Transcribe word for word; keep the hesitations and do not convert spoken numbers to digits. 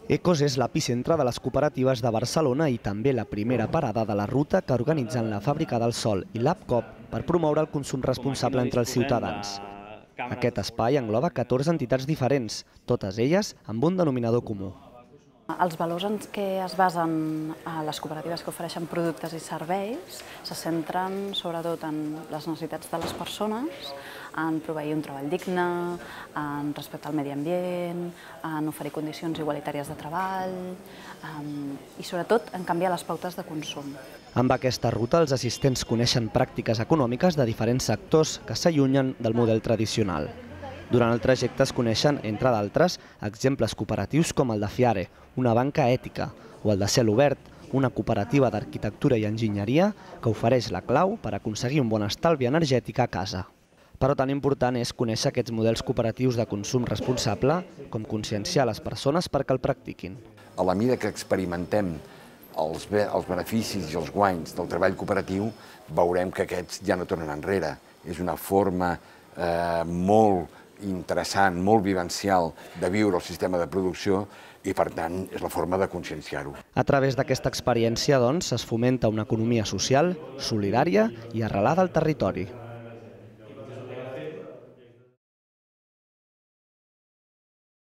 Ecos és l'epicentre de les cooperatives de Barcelona i també la primera parada de la ruta que organitzen la Fàbrica del Sol i l'APCOP per promoure el consum responsable entre els ciutadans. Aquest espai engloba catorze entitats diferents, totes elles amb un denominador comú. Els valors en què es basen les cooperatives que ofereixen productes i serveis se centren sobretot en les necessitats de les persones, en proveir un treball digne, en respectar el medi ambient, en oferir condicions igualitàries de treball i sobretot en canviar les pautes de consum. Amb aquesta ruta els assistents coneixen pràctiques econòmiques de diferents sectors que s'allunyen del model tradicional. Durant el trajecte es coneixen, entre d'altres, exemples cooperatius com el de Fiare, una banca ètica, o el de Cel Obert, una cooperativa d'arquitectura i enginyeria que ofereix la clau per aconseguir un bon estalvi energètic a casa. Però tan important és conèixer aquests models cooperatius de consum responsable com conscienciar les persones perquè el practiquin. A la mida que experimentem els beneficis i els guanys del treball cooperatiu, veurem que aquests ja no tornen enrere. És una forma molt interessant, molt vivencial de viure el sistema de producció i, per tant, és la forma de conscienciar-ho. A través d'aquesta experiència, doncs, es fomenta una economia social, solidària i arrelada al territori.